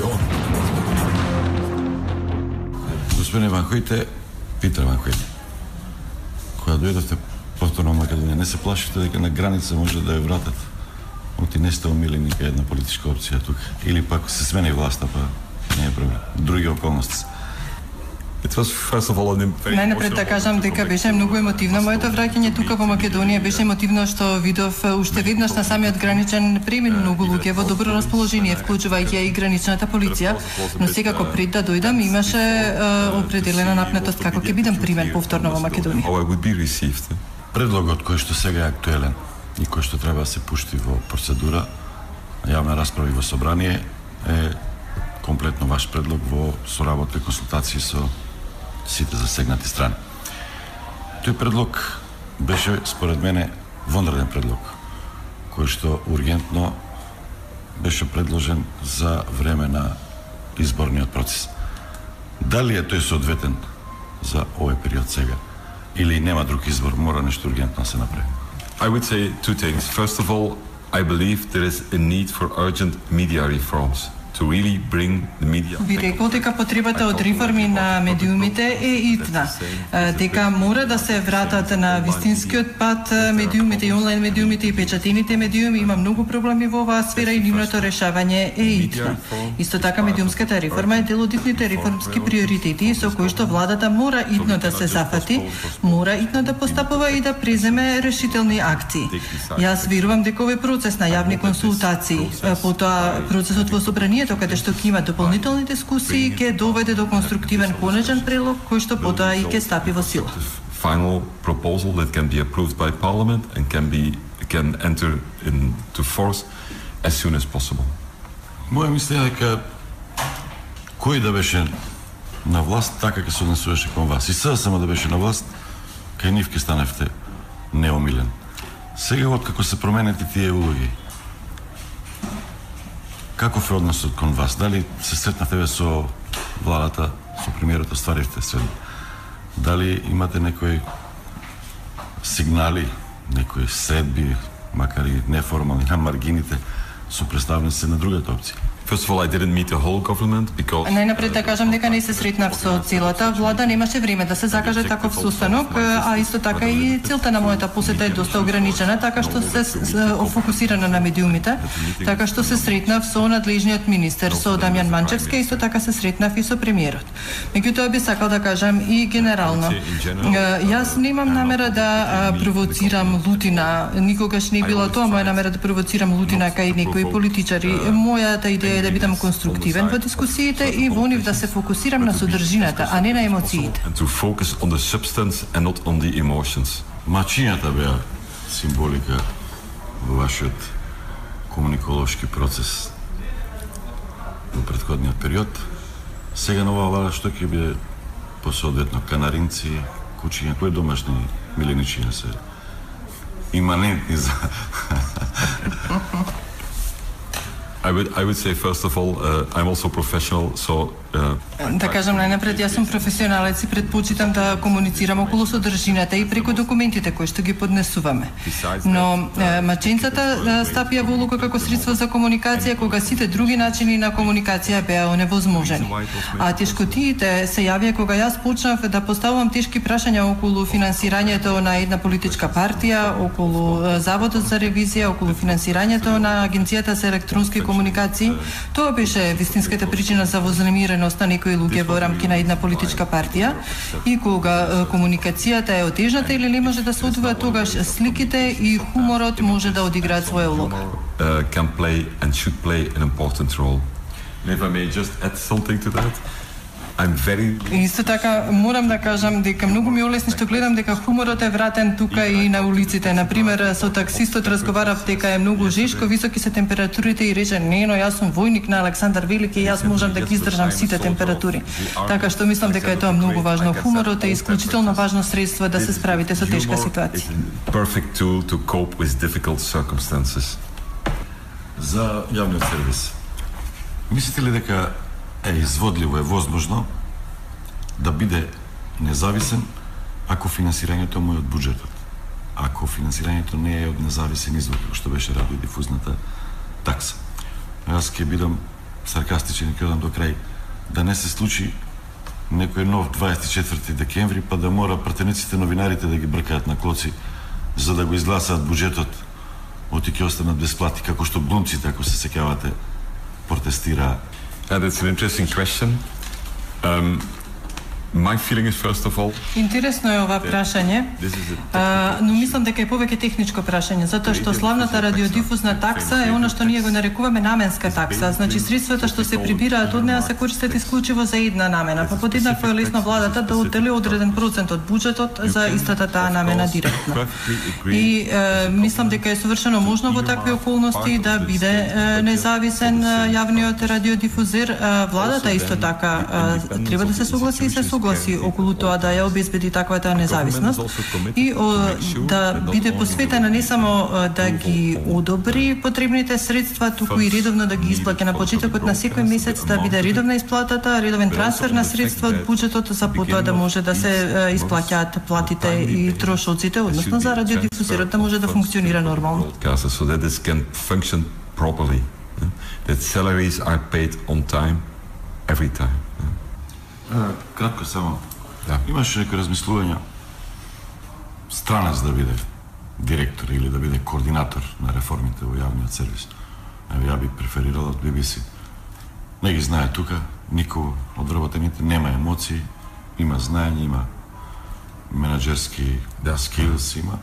Македонија. Господин Ванхојте, Питер Ванхојте, кога дојдовте повторно во Македонија, не се плашите дека на граница може да ја вратат? Оти не сте омилени нека една политичка опција тука. Или пак се смени власта, па не е проблем. Други околности. Најнапред да кажам дека беше многу емотивно моето враќање тука во Македонија. Беше емотивно што видов уште веднаш на самиот граничен премин многу луѓе во добро расположение, вклучувајќи и граничната полиција. Но секако пред да дојдам имаше определена напнетост како ќе бидам примен повторно во Македонија. Предлогот кој што сега е актуелен и кој што треба да се пушти во процедура, јавна расправа и во собрание е комплетно ваш предлог во соработа и консултации со сите засегнати страни. Тој предлог беше, според мене, вонреден предлог, кој што ургентно беше предложен за време на изборниот процес. Дали е тој соодветен за овој период сега? Или нема друг избор, мора нешто ургентно се направи? I would say two things. First of all, I believe there is a need for urgent media reforms. Би рекол дека потребата од реформи на медиумите е итна. Дека мора да се вратат на вистинскиот пат медиумите и онлайн медиумите и печатените медиуми. Има многу проблеми во оваа сфера и нивното решавање е итно. Исто така медиумската реформа е дел од итните реформски приоритети со кои што владата мора итно да се зафати, мора итно да постапува и да преземе решителни акции. Јас верувам дека овој процес на јавни консултации, потоа процесот во собранието каде што ќе има дополнителни дискусии, ќе доведе до конструктивен конечен предлог кој што потоа и ќе стапи во сила. Final proposal that can be approved by Parliament and can enter into force as soon as possible. Моја мисла е дека кој да беше на власт, така ќе се однесуваше кон вас. И сега само да беше на власт, кај нив ќе станевте неомилен. Сега откако се променети тие улоги, каков е односот кон вас? Дали се сретнавте со владата, со премиерот, остваривте се? Дали имате некои сигнали, некои средби, макар и неформални, на маргините, со представници на другата опција? First of all, I didn't meet the whole government because Најнапред да кажам дека не се сретнав со целата влада, немаше време да се закаже таков состанок, а исто така и целта на мојата посета е доста ограничена, така што се фокусирана на медиумите, така што се сретнав со надлежниот министер, со Дамјан Манчевски, исто така се сретнав и со премиерот. Меѓутоа би сакал да кажам и генерално. Јас немам намера да провоцирам лутина, никогаш не било тоа моја намера да провоцирам лутина кај некои политичари. Мојата идеја да бидам конструктивен во дискусиите и во нив да се фокусирам на содржината, а не на емоциите. And to focus on the substance and not on the emotions. Мачињата беа символика во вашиот комуниколошки процес во претходниот период. Сега на оваа влада што ќе биде посоодветно канаринци, кучиња, кои домашни миленичиња се иманентни за I would say first of all, I'm also professional, so Да кажам најнапред, јас сум професионалец и предпочитам да комуницирам околу содржината и преку документите кои што ги поднесуваме. Но маченцата стапија во улога како средство за комуникација кога сите други начини на комуникација беа оневозможени. А тешкотиите се јавија кога јас почнав да поставувам тешки прашања околу финансирањето на една политичка партија, околу Заводот за ревизија, околу финансирањето на Агенцијата за електронски комуникации. Тоа беше вистинската причина за вознемиреност на некои луѓе во рамки на една политичка партија и кога комуникацијата е отежната или не може да се одвива, тогаш сликите и хуморот може да одиграат своја улога. Can play and should play an important role. And if I may just add something to that, I'm very... Исто така морам да кажам дека многу ми олесни што гледам дека хуморот е вратен тука и на улиците. Например, со таксистот разговарав дека е многу жешко, високи се температурите и рече: "Не, но јас сум војник на Александар Велики и јас можам да ги издржам сите температури." Така што мислам дека е тоа многу важно. Хуморот е исклучително важно средство да се справите со тешка ситуација. Perfect tool to cope with difficult circumstances. За јавниот сервис. Мислите ли дека е изводливо, е возможно да биде независен ако финансирањето му е од буџетот? Ако финансирањето не е од независен извор, што беше радиодифузната такса. Јас ќе бидам саркастичен и ќе одам до крај, да не се случи некој нов 24 декември, па да мора пратениците новинарите да ги бркаат на клоци за да го изгласаат буџетот, оти ќе останат без плати, како што глумците, ако се сеќавате, протестираа. That's an interesting question. My feeling is, first of all, интересно е ова прашање, но мислам дека е повеќе техничко прашање, затоа што славната радиодифузна такса е она што ние го нарекуваме наменска такса. Значи средствата што се прибираат од неа се користат исклучиво за една намена, па подеднакво е лесно владата да оддели одреден процент од буџетот за истата таа намена директно. И мислам дека е совршено можно во такви околности да биде независен јавниот радиодифузер. Владата исто така треба да се согласи и се согласи околу тоа да ја обезбеди таквата независност и да биде посветена не само да ги одобри потребните средства, туку и редовно да ги исплаќа на почетокот на секој месец, да биде редовна исплатата, редовен трансфер на средства од буџетот за потоа да може да се исплаќаат платите и трошоците, односно за радиодифузерот да може да функционира нормално. So that this can function properly. That salaries are paid on time, every time. Кратко само. Имаше некои размислувања странец да биде директор или да биде координатор на реформите во јавниот сервис. Ја би преферирал од BBC. Не ги знае тука, никој од вработените нема емоции, има знаење, има менаџерски skills, има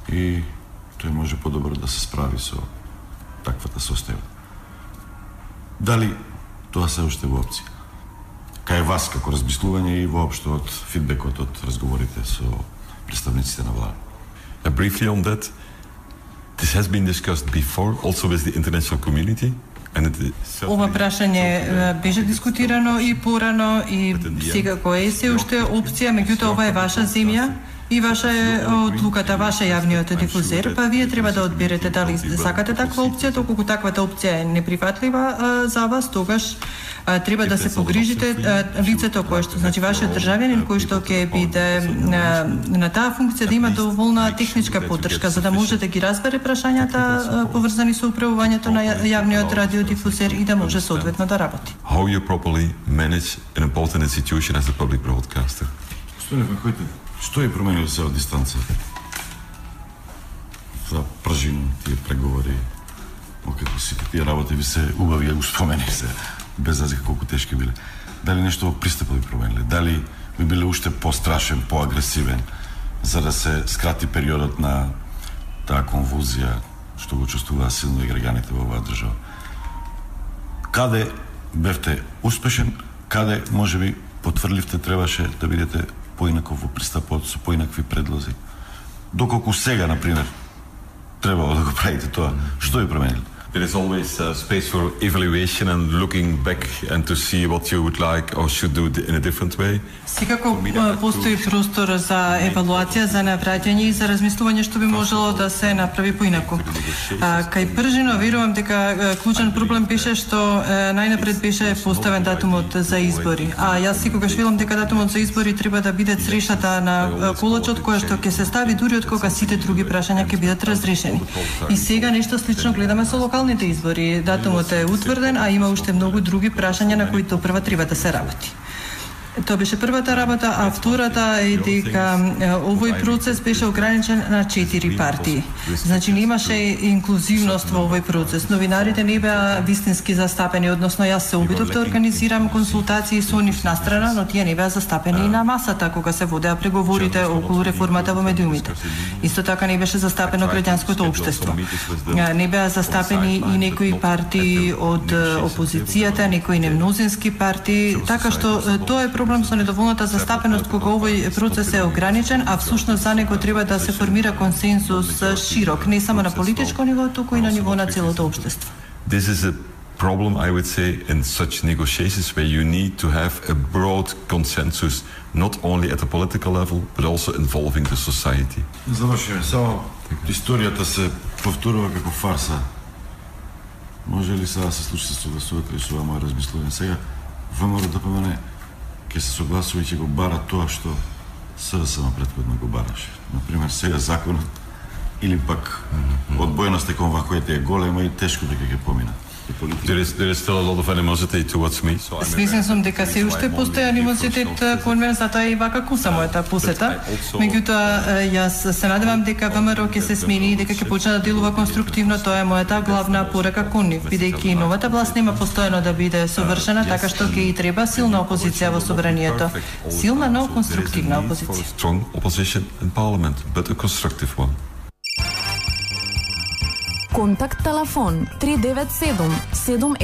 и тој може подобро да се справи со таквата состојба. Дали тоа се уште во опција? Кај вас како размислување и воопшто од фидбекот од разговорите со представниците на влада? Briefly on that, this has been discussed before, also with the international community. Ова прашање беше дискутирано и порано и секако е се уште опција, меѓутоа ова е ваша земја и ваша е одлуката, ваша јавниот дифузер, па вие треба да одберете дали сакате таква опција, доколку таквата опција е неприфатлива за вас, тогаш треба да се погрижите лицето кое што, значи вашиот државјанин кој што ќе биде на таа функција да има доволна техничка поддршка за да може да ги разбере прашањата поврзани со управувањето на јавниот радиодифузер и да може соодветно да работи. How you properly manage an important institution as a public broadcaster. Што е променило се од дистанца? За пржин тие преговори, како си тие работи ви се убави го спомени се, без разлика колку тешки биле. Дали нешто во пристапот ви промениле? Дали би биле уште пострашен, поагресивен, за да се скрати периодот на таа конвулзија што го чувствуваа силно и граѓаните во оваа држава? Каде бевте успешен, каде можеби потврливте требаше да бидете поинаков во пристапот со поинакви предлози? Доколку сега, например, требало да го правите тоа, што ви промениле? There is always space for evaluation and looking back and to see what you would like or should do in a different way. Секако постои простор за евалуација, за навраќање и за размислување што би можело да се направи поинаку. Кај пржино верувам дека клучен проблем беше што најнапред беше поставен датумот за избори. А јас секогаш велам дека датумот за избори треба да биде црешата на колочот која што ќе се стави дури од кога сите други прашања ќе бидат разрешени. И сега нешто слично гледаме со локалните избори. Датумот е утврден, а има уште многу други прашања на кои допрва треба да се работи. Тоа беше првата работа, а втората е дека овој процес беше ограничен на 4 партии. Значи немаше инклузивност во овој процес. Новинарите не беа вистински застапени, односно јас се обидов да организирам консултации со нив настрана, но тие не беа застапени и на масата кога се водеа преговорите околу реформата во медиумите. Исто така не беше застапено граѓанското општество. Не беа застапени и некои партии од опозицијата, некои немнозински партии, така што тоа е проблем со недоволната застапеност кога овој процес е ограничен, а всушност за него треба да се формира консенсус широк, не само на политичко ниво, туку и на ниво на целото општество. This is a problem, I would say, in such negotiations where you need to have a broad consensus, not only at the political level, but also involving the society. Завршиме, само историјата се повторува како фарса. Може ли сега да се случи се согласувате ли со ова моје размислување? Сега ВМРО да помене ќе се согласува и ќе го бара тоа што СДСМ претходно го бараше. Например, сега законот или пак одбојноста кон ваквите е голема и тешко дека ќе помина. There is still a lot of animosity towards me. Свесен сум дека се уште постои анимозитет кон мене, затоа и вака куса мојата посета. Меѓутоа, јас се надевам дека ВМРО ќе се смени и дека ќе почне да делува конструктивно. Тоа е мојата главна порака кон нив, бидејќи новата власт нема постојано да биде совршена, така што ќе и треба силна опозиција во собранието. Силна, но конструктивна опозиција. Strong opposition in parliament, but a constructive one. Контакт телефон 397 7